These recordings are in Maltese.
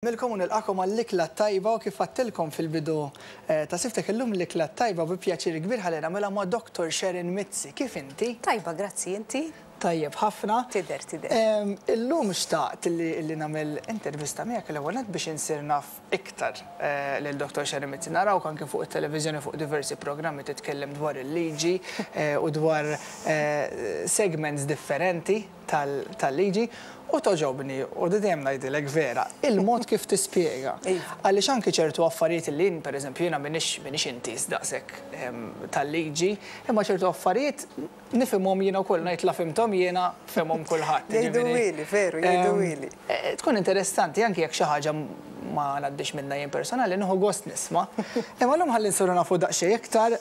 Milkom u nilqagħkom għall-Ikla t-Tajba u kif għadtilkom fil-bidu ta' Siftek illum l-Ikla t-Tajba bi pjaċir kbir ħalli nagħmilha ma' Doctor Sharon Mizzi. Kif inti? Tajba, grazzi, inti? Tajjeb ħafna. Tidher, tidher. Illum xtaqt li nagħmel intervista miegħek l-ewwel nett biex insir naf iktar lil Doctor Sharon Mizzi. Narawk anke fuq it-televiżjoni fuq diversi programmi titkellem dwar il-liġi u dwar segments differenti. tal-liġi u togħġobni u dejjem ngħidilek vera, il-mod kif tispjega. Għaliex anki ċertu affarijiet li jien pereżempju jiena m'iniex m'iniex intiż daqshekk tal-liġi, imma ċertu affarijiet nifhimhom jiena wkoll ngħid la fhimthom jiena fehmhom kulħadd. Jgħiduhieli, veru, jgħiduhieli. Tkun interessanti anki jekk xi ħaġa ma ngħaddix minnha jien personali, nieħu gost nisma'. Imma llum ħalli nsiru nafu daqsxejn iktar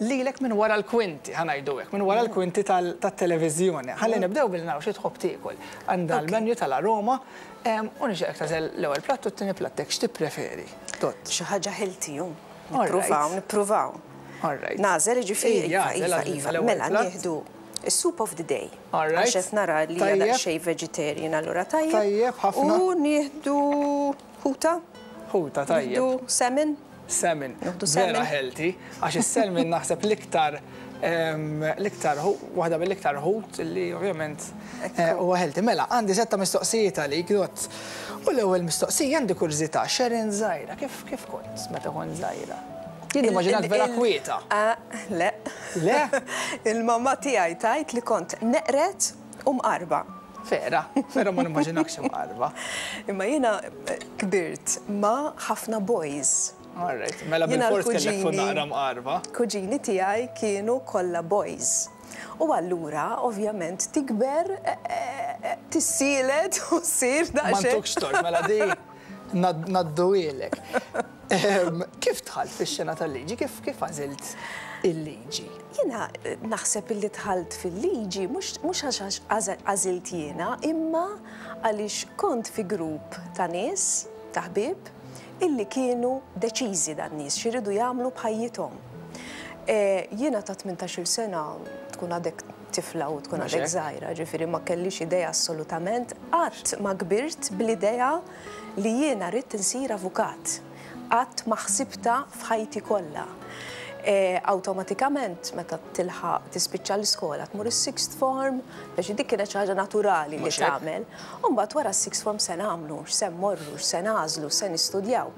lilek minn wara l-kwinti, ħa ngħidu hekk, minn wara l-kwinti tat-televiżjoni. Ħalli nibdew billi naraw xi tħobb tiekol. Għandna l-menu tal-Aroma u nixtieqek tagħżel l-ewwel platt u t-tieni platt hekk x'tippreferi, Dott? Xi ħaġa healthy hu. Nippruvaw, nippruvaw. Nagħżel jiġifieri? Iva, iva, iva. Mela nieħdu is-soup of the day. Għax qed nara li hija daqsxejn vegetarian allura tajjeb. Tajjeb ħafna. U nieħdu ħuta. Ħuta tajjeb. Nieħdu salmon. Salmon. Nieħdu salmon. Vera healthy, għax is-salmon naħseb l-iktar l-iktar waħda mill-iktar ħut li ovvjament huwa healthy. Mela, għandi setta mistoqsijiet għalik, Dott. U l-ewwel mistoqsija għandi kurżità, Sharon żgħira, kif kif kont meta kont żgħira? Jien nimmaġinak vera kwieta. Le. Le? Il-mamma tiegħi tgħid li kont neqred u mqarba. Vera, vera ma nimmaġinakx imqarba. Imma jiena kbirt ma' ħafna boys. All right, mela bilfors kellek tkun naqra mqarba. Kuġini tiegħi kienu kollha boys. U allura ovvjament tikber tissielet u ssir daqsxejn. Ma ntukx tort, mela di ngħadduhielek. Kif dħalt fix-xena tal-liġi? Kif kif għażilt il-liġi? Jiena naħseb illi dħalt fil-liġi mhux mhux għax għażilt jiena, imma għaliex kont fi grupp ta' nies, ta' ħbieb, illi kienu deċiżi dan-nies x'iridu jagħmlu b'ħajjithom. Jiena ta' 18-il sena tkun għadek tifla u tkun għadek żgħira, ġifieri ma kellix idea assolutament, qatt ma kbirt bl-idea li jiena ridt insir avukat. Qatt ma ħsibtha f'ħajti kollha. Awtomatikament meta tilħaq tispiċċa l-iskola tmur is-sixth form, biex dik kienet xi ħaġa naturali li tagħmel. U mbagħad wara s-sixth form se nagħmlu, x'se mmorru, x'se nagħżlu, x'se nistudjaw.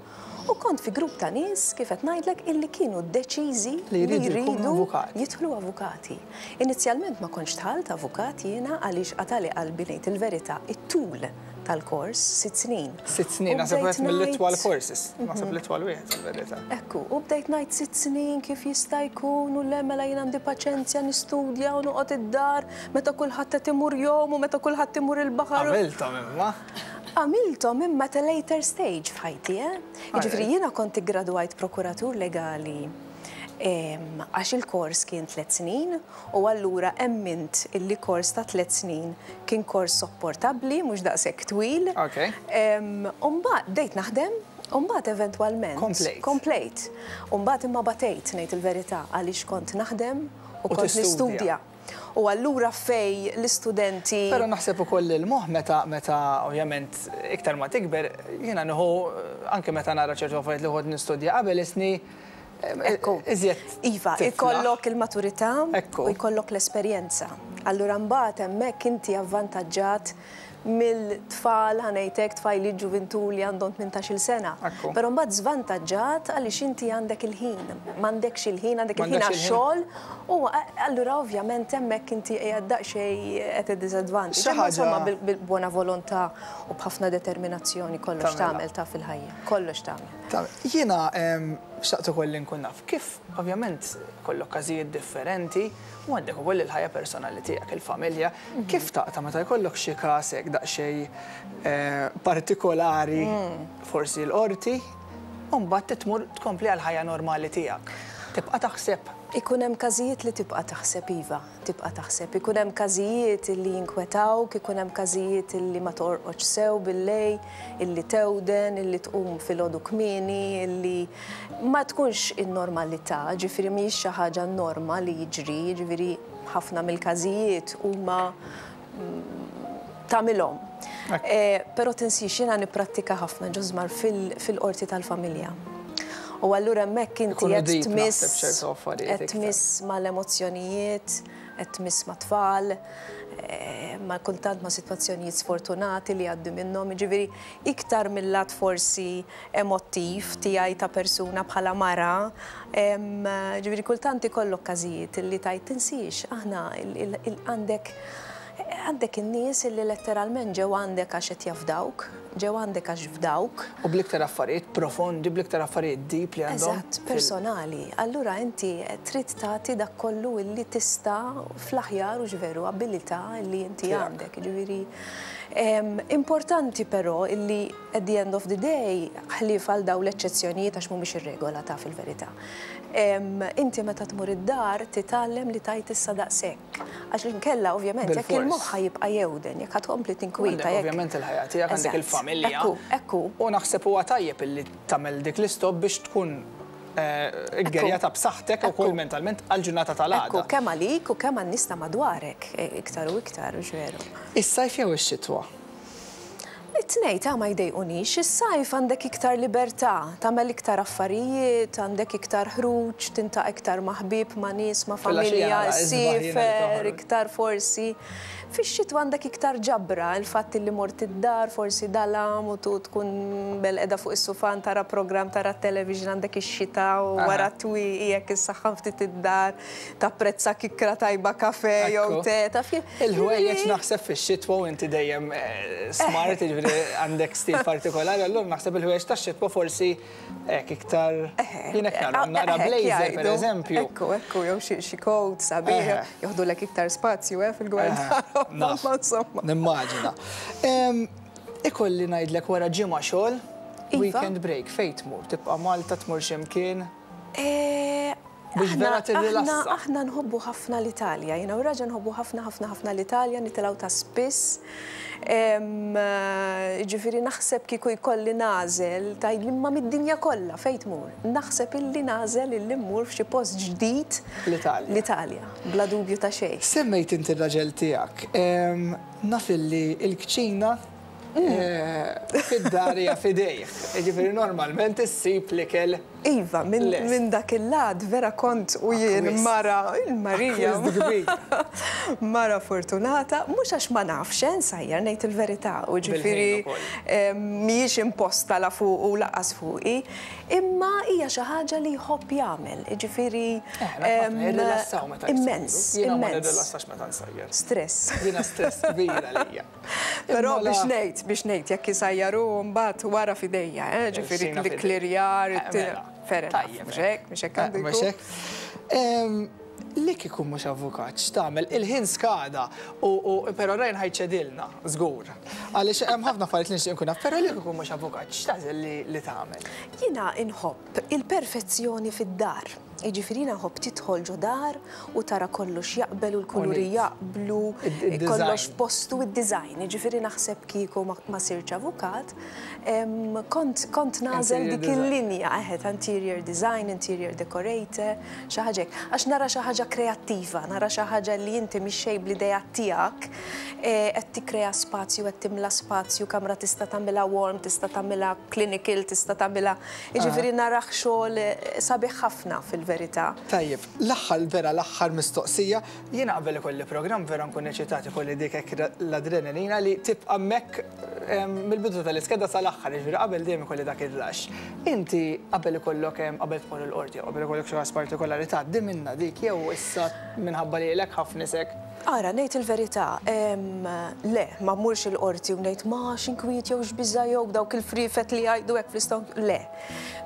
U kont fi grupp ta' nies, kif qed ngħidlek, illi kienu deċiżi li jridu jidħlu avukati. Inizjalment ma kontx dħalt avukat jiena għaliex qatagħli qalbi ngħid il-verità, it-tul tal-kors, sitt snin. Sitt snin, naħseb wieħed mill-itwal courses, naħseb l-itwal wieħed fil-verità. Ekku, u bdejt ngħid sitt snin kif jista' jkun u le mela jien għandi paċenzja nistudja u noqgħod id-dar meta kulħadd qed imur jgħum u meta kulħadd imur il-baħar. Għamilthom imma. Għamilthom imma at a later stage f'ħajti, eh. Jiġifieri jiena kont iggradwajt prokuratur legali għax il-kors kien tliet snin u allura emmint illi kors ta' tliet snin kien kors sopportabbli, mhux daqshekk twil. U mbagħad bdejt naħdem u mbagħad eventwalment. Komplejt. Komplejt. U mbagħad imma batejt ngħid il-verità għaliex kont naħdem u kont nistudja. U allura fejn l-istudenti. Però naħseb ukoll li l-moħħ meta meta ovvjament iktar ma tikber, jiena nieħu anke meta nara ċertu affarijiet li kont nistudja qabel isni Ekku. Iżjed. Iva, ikollok il-maturità u jkollok l-esperjenza. Allura mbagħad hemmhekk inti avvantaġġat mill-tfal, ħa ngħid hekk, tfajliet ġuvintur li għandhom 18-il sena. Però mbagħad żvantaġġat għaliex inti għandek il-ħin. M'għandekx il-ħin, għandek il-ħin għax-xogħol u allura ovvjament hemmhekk inti qiegħed daqsxejn at a disadvantage. Imma insomma bil-buona volontà u b'ħafna determinazzjoni kollox tagħmel ta' fil-ħajja. Kollox tagħmel. Jiena xtaqt ukoll li nkun naf kif ovvjament ikollok każijiet differenti u għandek ukoll il-ħajja personali tiegħek, il-familja. Kif taqta' meta jkollok xi każ hekk daqsxejn partikolari, forsi l-qorti, u mbagħad tmur tkompli għall-ħajja normali tiegħek? Tibqa' taħseb? Ikun hemm każijiet li tibqa' taħseb, iva, tibqa' taħseb. Ikun hemm każijiet li jinkwetawk, ikun hemm każijiet li ma torqodx sew bil-lejl, illi tewden, illi tqum filgħodu kmieni, illi ma tkunx in-normalità, ġifieri mhijiex xi ħaġa norma li jiġri, jiġifieri ħafna mill-każijiet huma. tagħmilhom. Però tinsiex jiena nipprattika ħafna ġużmar fil-qorti tal-familja. U allura hemmhekk inti qed tmiss qed tmiss mal-emozzjonijiet, qed tmiss mat-tfal, ma' kultant ma' sitwazzjonijiet sfortunati li jgħaddu minnhom, jiġifieri iktar mil-lat forsi emottiv tiegħi ta' persuna bħala mara, jiġifieri kultant ikollok każijiet li tgħid tinsiex aħna għandek għandek in-nies li letteralment ġew għandek għax qed jafdawk, ġew għandek għax fdawk. U bl-iktar affarijiet profondi, bl-iktar affarijiet deep li għandhom. Eżatt, personali. Allura inti trid tagħti dak kollu illi tista' fl-aħjar hux veru abilità li inti għandek. Jiġifieri importanti però illi At the end of the day, ħlief għal dawn l-eċċezzjonijiet għax mhumiex ir-regola taf il-verità. Inti meta tmur id-dar titgħallem li tgħid issa daqshekk. Għax inkella ovvjament jekk il-moħħ ħa jibqa' jewden, jekk ħa tkompli tinkwieta. Għandek ovvjament il-ħajja tiegħek, għandek il-familja. Ekku, ekku. U naħseb huwa tajjeb illi tagħmel dik l-istop biex tkun iggerjata b'saħħtek ukoll mentalment għall-ġurnata tal-għada. Ekku, kemm għalik u kemm għan-nies ta' madwarek, iktar u iktar, hux veru? Is-sajf jew ix-xitwa? It-tnejn ta' ma jdejqunix. Is-sajf għandek iktar libertà, tagħmel iktar affarijiet, għandek iktar ħruġ, tintaqa' iktar ma' ħbieb, ma' nies, ma' familja, issiefer iktar forsi. Fix-xitwa għandek iktar ġabra, il-fatt li mort id-dar forsi dalam u tkun belqeda fuq is-sufan tara programm, tara t-television, għandek ix-xita u wara t-twieqi jekk issaħħan ftit id-dar. Tapprezza kikkra tajba kafè jew te, taf kif? Il-ħwejjeġ naħseb fix-xitwa u inti dejjem smart, jiġifieri għandek stil partikolari, allura naħseb il-ħwejjeġ tax-xitwa forsi hekk iktar jien hekk nara, nara blazer pereżempju. Ekku, ekku, jew xi coat sabiħ, joħdulek iktar spazju eh fil-gwardarobba, ma insomma. Nimmaġina. Ikolli ngħidlek wara ġimgħa xogħol, weekend break, fejn tmur? Tibqa' Malta, tmur xi mkien? Biex vera tirrilassa. Aħna nħobbu ħafna l-Italja. Jiena u r-raġel nħobbu ħafna ħafna ħafna l-Italja, nitilgħu ta' spiss. Jiġifieri naħseb kieku jkolli nagħżel, tgħidli imma mid-dinja kollha fejn tmur? Naħseb illi nagħżel illi mmur f'xi post ġdid. L-Italja. L-Italja, bla dubju ta' xejn. Semmejt inti r-raġel tiegħek. Naf illi l-kċina fid-dar hija f'idejh. Jiġifieri normalment issib l-ikel. Iva, minn dak il-lat vera kont u jien mara, il-Marija. Mara fortunata, mhux għax ma nafx, eh, nsajjar ngħid il-verità, u ġifieri mhijiex imposta la fuqu u lanqas fuqi, imma hija xi ħaġa li jħobb jagħmel, jiġifieri. Jirrilassaw meta jsajru. Immens. Jiena ma nirrilassax meta nsajjar. Stress. Jiena stress kbir għalija. Però biex ngħid, biex ngħid, jekk isajjar hu mbagħad wara f'idejja, eh, ġifieri l-ikklirjar, fair enough. Mhux hekk, mhux hekk għandu jkun. Mhux hekk. Li kieku mhux avukat, x'tagħmel? Il-ħin skada, u però Ryan ħa jċedilna, żgur. Għaliex hemm ħafna affarijiet li nixtieq inkun naf, però li kieku mhux avukat, x'tagħżel li tagħmel? Jiena inħobb il-perfezzjoni fid-dar. Jiġifieri jiena nħobb tidħol ġo dar u tara kollox jaqbel u l-kuluri jaqblu, kollox f'postu, id-design. Jiġifieri naħseb kieku ma sirtx avukat, kont kont nagħżel dik il-linja, eħe, ta' interior design, interior decorator, xi ħaġa hekk. Għax nara xi ħaġa kreattiva, nara xi ħaġa li inti mix-xejn bl-ideat tiegħek qed tikkrea spazju, qed timla spazju, kamra tista' tagħmilha warm, tista' tagħmilha clinical, tista' tagħmilha Jiġifieri narah xogħol sabiħ ħafna fil-verità. Tajjeb, l-aħħar vera l-aħħar mistoqsija, jiena qabel ikolli programm vera nkun eċitat ikolli dik hekk l-adrenalina li tibqa' hemmhekk mill-bidu tal-iskeda sal-aħħar, jiġifieri qabel dejjem ikolli dak ir-rush. Inti qabel ikollok qabel tmur il-qorti jew qabel ikollok xi każ partikolari tgħaddi minnha dik jew issa minħabba li ilek ħafna isek? Ara, ngħid il-verità, le, ma mmurx il-qorti u ngħid ma x'inkwiet jew x'biża' jew dawk il-friefet li jgħidu hekk fl-istonk, le.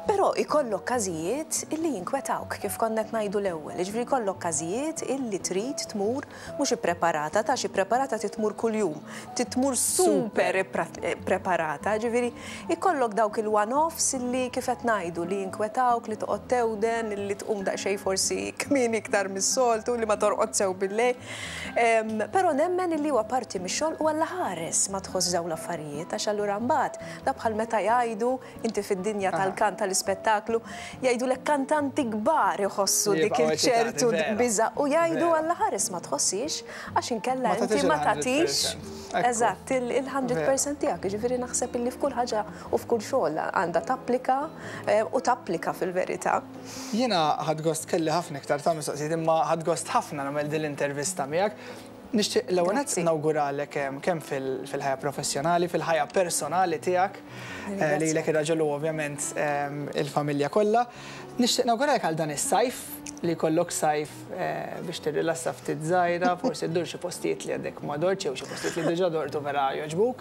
Però ikollok każijiet illi jinkwetawk, kif konna qed ngħidu l-ewwel. Jiġifieri jkollok każijiet illi trid tmur mhux ippreparata, ta' xi ppreparata trid tmur kuljum, trid tmur super ippreparata, jiġifieri ikollok dawk il-one-offs illi kif qed ngħidu li jinkwetawk, li toqgħod tewden, illi tqum daqsxejn forsi kmieni iktar mis-soltu, li ma torqod sew bil-lejl. Però nemmen illi huwa parti mix-xogħol u Alla ħares ma tħossx dawn l-affarijiet għax allura mbagħad da bħal meta jgħidu inti fid-dinja tal-kant tal-ispettaklu, jgħidulek kantanti kbar iħossu dik il-ċertu biża' u jgħidu Alla ħares ma tħossiex għax inkella inti ma tagħtix. Eżatt, il-100% tiegħek, jiġifieri naħseb illi f'kull ħaġa u f'kull xogħol għandha tapplika u tapplika fil-verità. Jiena ħadt gost kelli ħafna iktar ta' mistoqsijiet imma ħadt gost ħafna nagħmel din l-intervista miegħek. Nixtieq l-ewwel nett nawguralek kemm fil-ħajja professjonali, fil-ħajja personali tiegħek, lilek ir-raġel u ovvjament il-familja kollha. Nixtieq nawguralek għal dan is-sajf, li jkollok sajf biex tirrilassa ftit żgħira, forsi ddur xi postijiet li għadek ma dortx jew xi postijiet li diġà dort u vera jogħġbuk.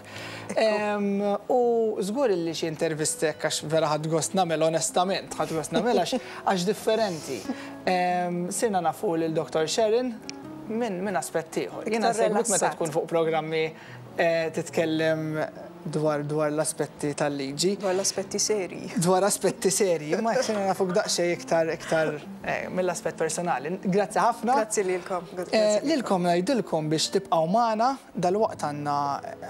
U żgur li xi intervisti hekk għax vera ħadt gost nagħmel onestament, ħadt gost nagħmel għax differenti. Sirna nafu lil Dr. Sharon minn aspett ieħor. Jiena nsegwik meta tkun fuq programmi titkellem dwar dwar l-aspetti tal-liġi. Dwar l-aspetti serji. Dwar aspetti serji, imma jekk sirna nafuk daqsxejn iktar iktar mill-aspett personali. Grazzi ħafna. Grazzi lilkom. Lilkom ngħidilkom biex tibqgħu magħna, dalwaqt għandna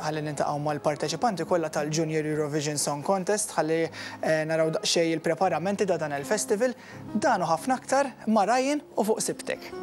ħalli niltaqgħu mal-parteċipanti kollha tal-Junior Eurovision Song Contest ħalli naraw daqsxejn il-preparamenti ta' dan il-festival. Dan u ħafna aktar ma' Ryan u fuq Sibtek.